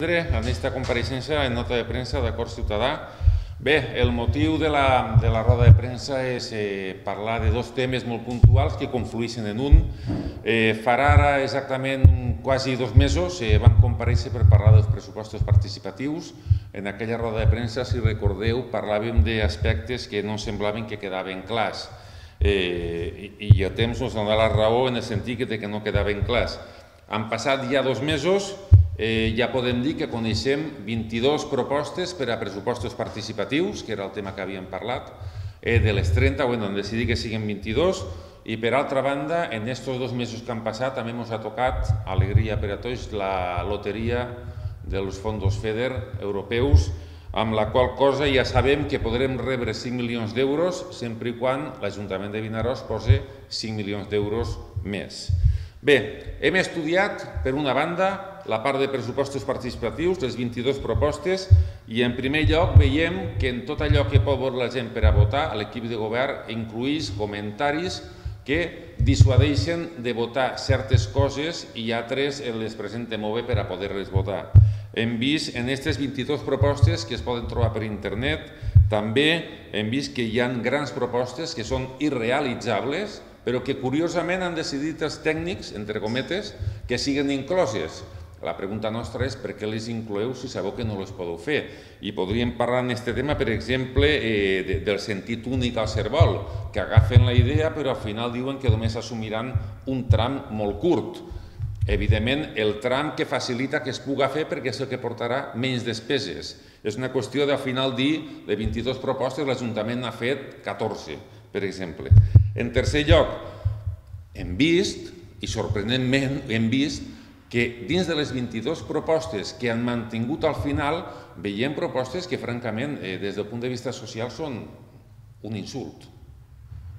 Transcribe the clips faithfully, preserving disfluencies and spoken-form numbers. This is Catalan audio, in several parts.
En aquesta compareixença en nota de premsa d'Acord Ciutadà. Bé, el motiu de la, de la roda de premsa és eh, parlar de dos temes molt puntuals que conflueixen en un. Eh, farà ara exactament quasi dos mesos eh, vam comparèixer per parlar dels pressupostos participatius. En aquella roda de premsa, si recordeu, parlàvem d'aspectes que no semblaven que quedaven clars. Eh, i, I el temps ens dona la raó en el sentit de que no quedaven clars. Han passat ja dos mesos. Eh, ja podem dir que coneixem vint-i-dues propostes per a pressupostos participatius, que era el tema que havíem parlat. Eh, de les trenta, bueno, hem decidit que siguin vint-i-dues. I per altra banda, en aquests dos mesos que han passat, també ens ha tocat, alegria per a tots, la loteria dels fons FEDER europeus, amb la qual cosa ja sabem que podrem rebre cinc milions d'euros sempre i quan l'Ajuntament de Vinaròs posi cinc milions d'euros més. Bé, hem estudiat, per una banda, la part de pressupostos participatius, les vint-i-dues propostes, i en primer lloc veiem que en tot allò que pot veure la gent per a votar, l'equip de govern incluïx comentaris que dissuadeixen de votar certes coses i altres les presenten molt bé per a poder-les votar. Hem vist en aquestes vint-i-dues propostes que es poden trobar per internet, també hem vist que hi ha grans propostes que són irrealitzables, però que curiosament han decidit els tècnics, entre cometes, que siguin incloses. La pregunta nostra és per què les incloeu si sabeu que no les podeu fer. I podríem parlar en aquest tema, per exemple, eh, del sentit únic al Cervol, que agafen la idea però al final diuen que només assumiran un tram molt curt. Evidentment, el tram que facilita que es puga fer perquè és el que portarà menys despeses. És una qüestió de al final dir de vint-i-dues propostes l'Ajuntament n'ha fet catorze, per exemple. En tercer lloc, hem vist, i sorprenentment hem vist, que dins de les vint-i-dues propostes que han mantingut al final, veiem propostes que, francament, des del punt de vista social són un insult.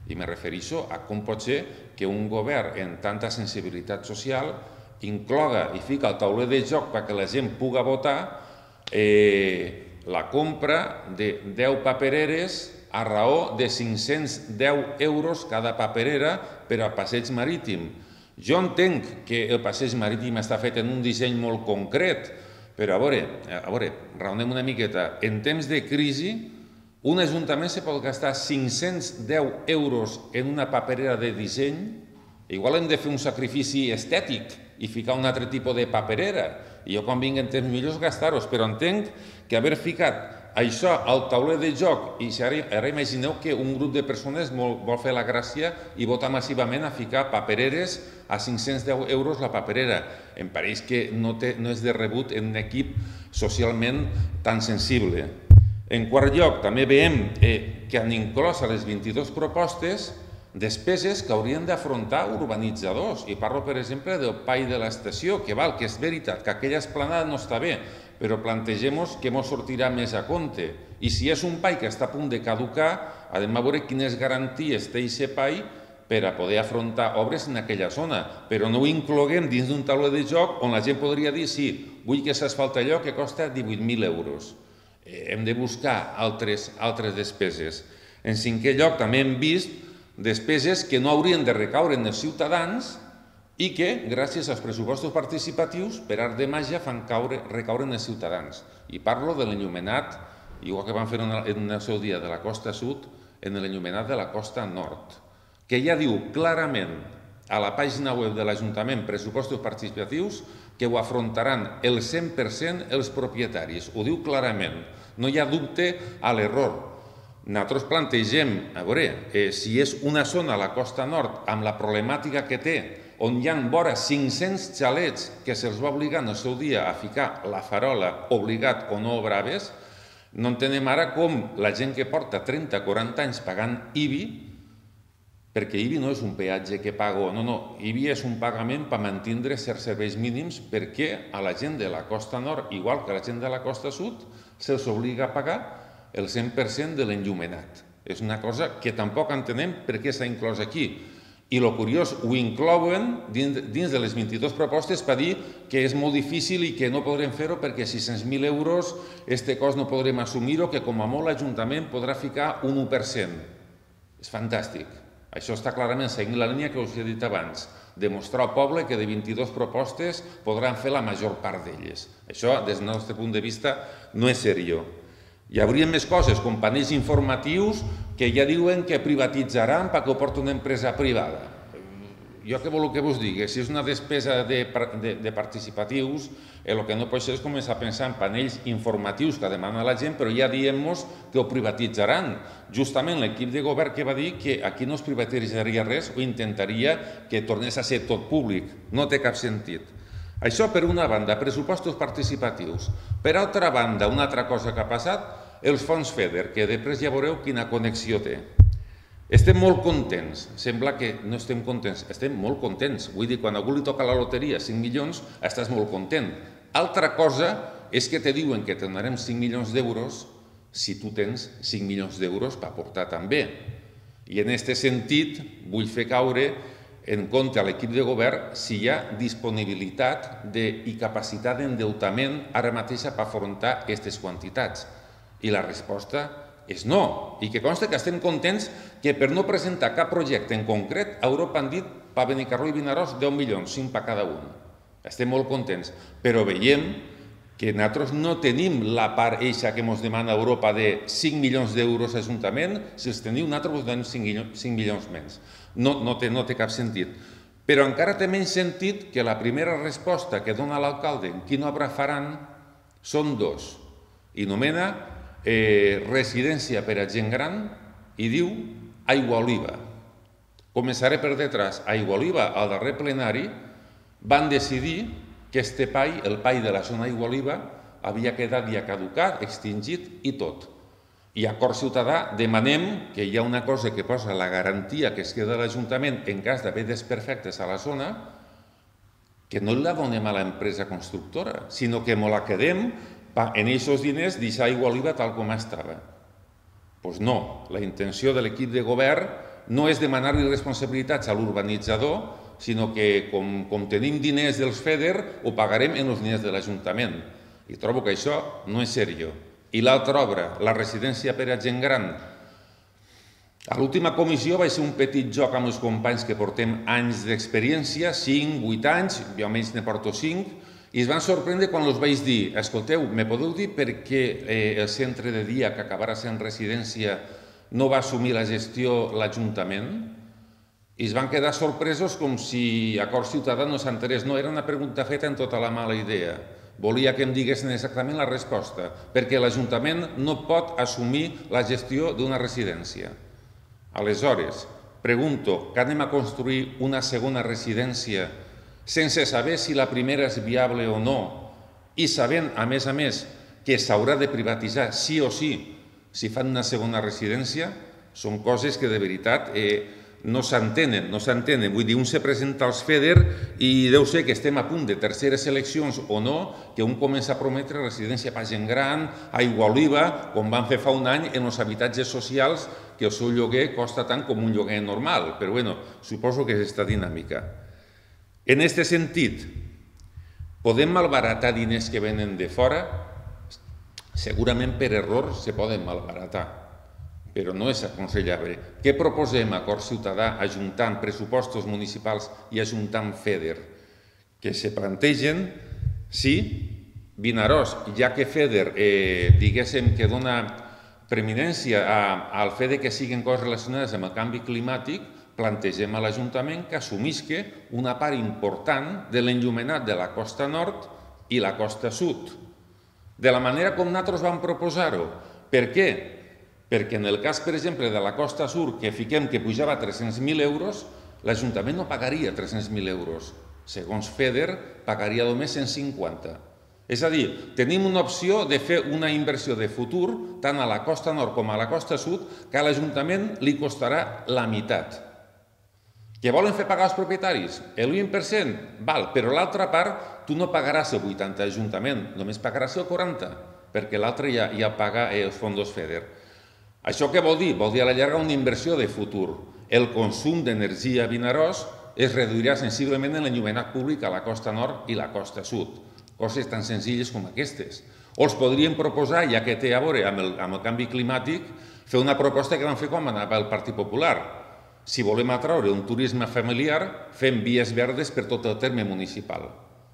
I me refereixo a com pot ser que un govern amb tanta sensibilitat social incloga i fica al tauler de joc perquè la gent puga votar la compra de deu papereres a raó de cinc-cents deu euros cada paperera per a passeig marítim. Jo entenc que el passeig marítim està fet en un disseny molt concret, però a veure, a veure, raonem una miqueta. En temps de crisi, un ajuntament se pot gastar cinc-cents deu euros en una paperera de disseny, igual hem de fer un sacrifici estètic i ficar un altre tipus de paperera. I jo quan vinc en temps millors gastar-los, però entenc que haver ficat això al tauler de joc, i ara imagineu que un grup de persones vol fer la gràcia i votar massivament a ficar papereres a cinc-cents deu euros la paperera. Em pareix que no és de rebut en un equip socialment tan sensible. En quart lloc, també veiem que han inclòs a les vint-i-dues propostes despeses que haurien d'afrontar urbanitzadors. I parlo, per exemple, del Pai de l'Estació, que val, que és veritat que aquella esplanada no està bé, però plantegem-nos que ens sortirà més a compte. I si és un pai que està a punt de caducar, hem de veure quines garanties té aquest pai per a poder afrontar obres en aquella zona. Però no ho incloguem dins d'un tauler de joc on la gent podria dir sí, vull que s'asfalta allò que costa divuit mil euros. Hem de buscar altres despeses. En cinquè lloc, també hem vist despeses que no haurien de recaure en els ciutadans i que, gràcies als pressupostos participatius, per art de màgia fan recaure en els ciutadans. I parlo de l'enllumenat, igual que van fer en el seu dia de la costa sud, en l'enllumenat de la costa nord, que ja diu clarament a la pàgina web de l'Ajuntament pressupostos participatius que ho afrontaran el cent per cent els propietaris. Ho diu clarament, no hi ha dubte a l'error. Nosaltres plantegem, a veure, si és una zona a la costa nord amb la problemàtica que té, on hi ha vora cinc-cents xalets que se'ls va obligar en el seu dia a ficar la farola obligat o no braves, no entenem ara com la gent que porta trenta o quaranta anys pagant I B I, perquè I B I no és un peatge que pago, no, no, I B I és un pagament per mantindre certs serveis mínims perquè a la gent de la costa nord, igual que a la gent de la costa sud, se'ls obliga a pagar el cent per cent de l'enllumenat. És una cosa que tampoc entenem per què s'ha inclòs aquí. I el curiós, ho inclouen dins de les vint-i-dues propostes per dir que és molt difícil i que no podrem fer-ho perquè sis-cents mil euros aquest cost no podrem assumir-ho, que com a molt l'Ajuntament podrà ficar un u per cent. És fantàstic. Això està clarament seguint la línia que us he dit abans. demostrar al poble que de vint-i-dues propostes podran fer la major part d'elles. Això, des del nostre punt de vista, no és seriós. Hi hauria més coses, com panells informatius que ja diuen que privatitzaran perquè ho porta una empresa privada. Jo què vol que vos digui? Si és una despesa de, de, de participatius, el que no pot ser és començar a pensar en panells informatius que demana la gent, però ja diem-nos que ho privatitzaran. Justament l'equip de govern que va dir que aquí no es privatitzaria res o intentaria que tornés a ser tot públic. No té cap sentit. Això per una banda, pressupostos participatius. Per altra banda, una altra cosa que ha passat, els fons FEDER, que després ja veureu quina connexió té. Estem molt contents, sembla que no estem contents, estem molt contents. Vull dir, quan a algú li toca la loteria cinc milions, estàs molt content. Altra cosa és que te diuen que te donarem cinc milions d'euros si tu tens cinc milions d'euros per aportar també. I en aquest sentit vull fer caure en compte a l'equip de govern si hi ha disponibilitat i capacitat d'endeutament ara mateix per afrontar aquestes quantitats. I la resposta és no, i que consta que estem contents que per no presentar cap projecte en concret a Europa han dit per Benicarló i Vinaròs deu milions, cinc per cada un. Estem molt contents, però veiem que nosaltres no tenim la part eixa que ens demana Europa de cinc milions d'euros a Ajuntament, si els teniu nosaltres us donem cinc milions menys. No, no, té, no té cap sentit. Però encara té menys sentit que la primera resposta que dona l'alcalde en quina obra faran són dos. I nomena Eh, residència per a gent gran i diu Aigua Oliva. Començaré per detrás. Aigua Oliva, al darrer plenari, van decidir que este pai, el pai de la zona Aigua Oliva, havia quedat ja caducat, extingit i tot. I a Acord Ciutadà demanem que hi ha una cosa que posa la garantia que es queda l'Ajuntament en cas d'haver desperfectes a la zona, que no la donem a l'empresa constructora, sinó que ens la quedem en aquests diners deixar Aigua Oliva tal com estava. Doncs no, la intenció de l'equip de govern no és demanar-li responsabilitats a l'urbanitzador, sinó que com tenim diners dels FEDER, ho pagarem en els diners de l'Ajuntament. I trobo que això no és seriós. I l'altra obra, la residència per a gent gran. A l'última comissió va ser un petit joc amb els companys que portem anys d'experiència, cinc, vuit anys, jo almenys ne porto cinc, i es van sorprendre quan els vaig dir, escolteu, me podeu dir per què el centre de dia que acabarà sent residència no va assumir la gestió l'Ajuntament? I es van quedar sorpresos com si Acord Ciutadà no s'enterés. No, era una pregunta feta en tota la mala idea. Volia que em diguessin exactament la resposta, perquè l'Ajuntament no pot assumir la gestió d'una residència. Aleshores, pregunto, que anem a construir una segona residència sense saber si la primera és viable o no, i sabent, a més a més, que s'haurà de privatitzar sí o sí si fan una segona residència, són coses que de veritat no s'entenen, no s'entenen. Vull dir, un se presenta als FEDER i deu ser que estem a punt de terceres eleccions o no, que un comença a prometre residència per gent gran, Aigua Oliva, com van fer fa un any en els habitatges socials, que el seu lloguer costa tant com un lloguer normal. Però bueno, suposo que és aquesta dinàmica. En aquest sentit, podem malbaratar diners que venen de fora? Segurament per error se poden malbaratar, però no és aconsellable. Què proposem a Acord Ciutadà ajuntant pressupostos municipals i ajuntant FEDER? Que se plantegen si Vinaròs, ja que FEDER, diguéssim que dona preeminència al fet que siguin coses relacionades amb el canvi climàtic, plantegem a l'Ajuntament que assumisca una part important de l'enllumenat de la costa nord i la costa sud. De la manera com nosaltres vam proposar-ho. Per què? Perquè en el cas, per exemple, de la costa sud, que fiquem que pujava tres-cents mil euros, l'Ajuntament no pagaria tres-cents mil euros. Segons FEDER, pagaria només cent cinquanta. És a dir, tenim una opció de fer una inversió de futur, tant a la costa nord com a la costa sud, que a l'Ajuntament li costarà la meitat. Que volen fer pagar els propietaris? El vint per cent? Val, però l'altra part, tu no pagaràs el vuitanta d'Ajuntament, només pagaràs el quaranta, perquè l'altre ja paga els fons FEDER. Això què vol dir? Vol dir a la llarga una inversió de futur. El consum d'energia a Vinaròs es reduirà sensiblement en l'enllumenat públic a la costa nord i la costa sud. Coses tan senzilles com aquestes. O els podríem proposar, ja que té a veure amb el canvi climàtic, fer una proposta que van fer quan anava el Partit Popular. Si volem atraure un turisme familiar, fem vies verdes per tot el terme municipal.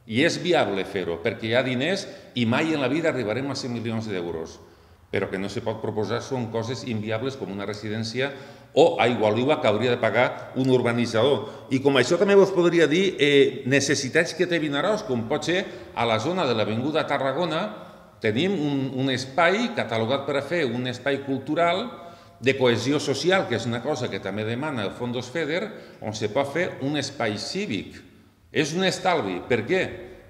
I és viable fer-ho, perquè hi ha diners i mai en la vida arribarem a cent milions d'euros. Però que no se pot proposar són coses inviables com una residència o Aigualiba que hauria de pagar un urbanitzador. I com això també us podria dir eh, necessitats que té Vinaròs, com pot ser a la zona de l'Avinguda Tarragona tenim un, un espai catalogat per a fer un espai cultural de cohesió social, que és una cosa que també demana el Fons FEDER, on se pot fer un espai cívic. És un estalvi. Per què?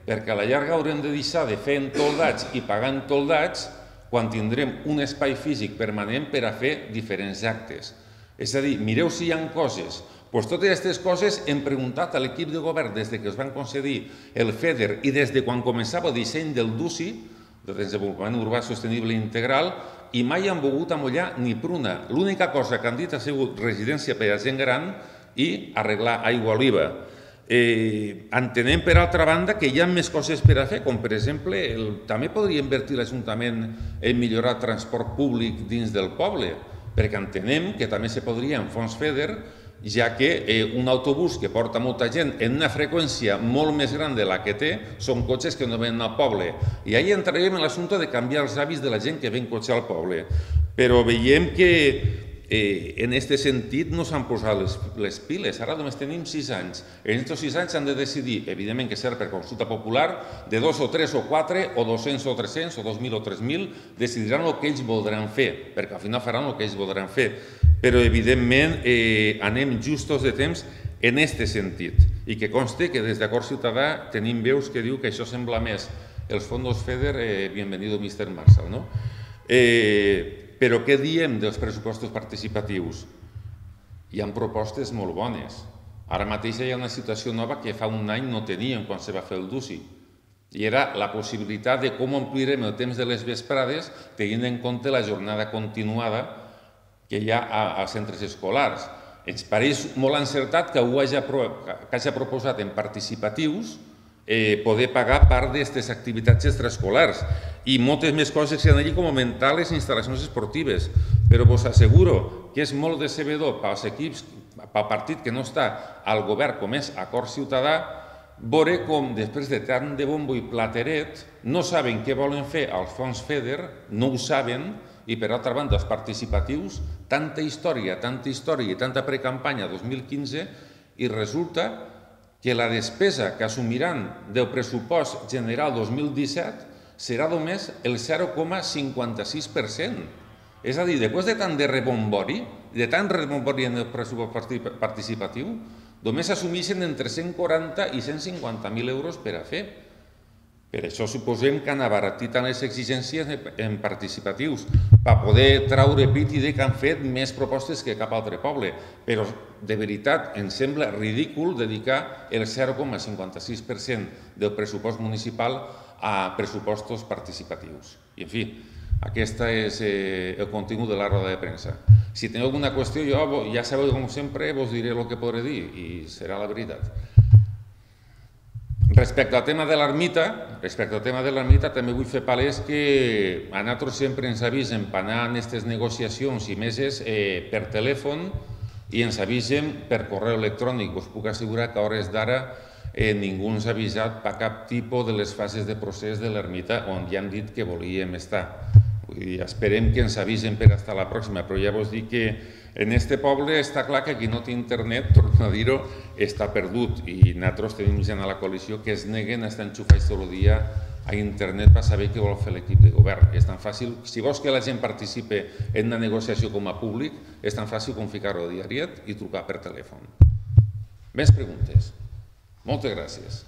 Perquè a la llarga haurem de deixar de fer entoldats i pagar entoldats quan tindrem un espai físic permanent per a fer diferents actes. És a dir, mireu si hi ha coses. Doncs totes aquestes coses hem preguntat a l'equip de govern des que es van concedir el FEDER i des de quan començava el disseny del D U C I, de Desenvolupament Urbà Sostenible Integral, i mai han volgut amollar ni pruna. L'única cosa que han dit ha sigut residència per a gent gran i arreglar Aigualiba. Eh, entenem, per altra banda, que hi ha més coses per a fer, com per exemple, el, també podria invertir l'Ajuntament en millorar el transport públic dins del poble, perquè entenem que també se podria en fons FEDER, ja que eh, un autobús que porta molta gent en una freqüència molt més gran de la que té són cotxes que no venen al poble. I ahí entrarem en l'assumpte de canviar els hàbits de la gent que ve en cotxe al poble. Però veiem que eh, en aquest sentit no s'han posat les, les piles. Ara només tenim sis anys. En aquests sis anys han de decidir, evidentment que serà per consulta popular, de dos o tres o quatre o dos-cents o tres-cents o dos mil o tres mil, decidiran el que ells voldran fer, perquè al final faran el que ells voldran fer. Però evidentment eh, anem justos de temps en aquest sentit. I que conste que des d'Acord Ciutadà tenim veus que diu que això sembla més els fons FEDER, eh, bienvenido mister Marshall, no? Eh, però què diem dels pressupostos participatius? Hi ha propostes molt bones. Ara mateix hi ha una situació nova que fa un any no teníem quan se va fer el D U C I. I era la possibilitat de com omplirem el temps de les vesprades tenint en compte la jornada continuada que hi ha als centres escolars. Ens pareix molt encertat que ho hagi proposat en participatius poder pagar part d'aquestes activitats extraescolars i moltes més coses que hi ha allí com augmentar les instal·lacions esportives. Però us asseguro que és molt decebedor pels equips, pel partit que no està al govern com és Acord Ciutadà, veure com després de tant de bombo i plateret no saben què volen fer als fons FEDER, no ho saben, i per altra banda els participatius, tanta història, tanta història i tanta precampanya dos mil quinze i resulta que la despesa que assumiran del pressupost general dos mil disset serà només el zero coma cinquanta-sis per cent. És a dir, després de tant de rebombori, de tant rebombori en el pressupost participatiu, només assumeixen entre cent quaranta i cent cinquanta mil euros per a fer. Per això suposem que han abaratit tant les exigències en participatius per poder traure pit i dir que han fet més propostes que cap altre poble. Però de veritat ens sembla ridícul dedicar el zero coma cinquanta-sis per cent del pressupost municipal a pressupostos participatius. I en fi, aquest és el contingut de la roda de premsa. Si teniu alguna qüestió, jo ja sabeu, com sempre, vos diré el que podré dir i serà la veritat. Respecte al tema de l'ermita, respecte al tema de l'ermita també vull fer palès que a nosaltres sempre ens avisen per anar en aquestes negociacions i meses per telèfon i ens avisen per correu electrònic. Us puc assegurar que a hores d'ara ningú ens ha avisat per cap tipus de les fases de procés de l'ermita on ja hem dit que volíem estar. Esperem que ens avisen per estar a la pròxima, però ja vos dic que en este poble està clar que qui no té internet, torno a dir-ho, està perdut i nosaltres tenim gent a la coalició que es neguen a estar enxufats tot el dia a internet per saber què vol fer l'equip de govern. És tan fàcil, si vols que la gent participi en una negociació com a públic, és tan fàcil com ficar-ho a diariet i trucar per telèfon. Més preguntes? Moltes gràcies.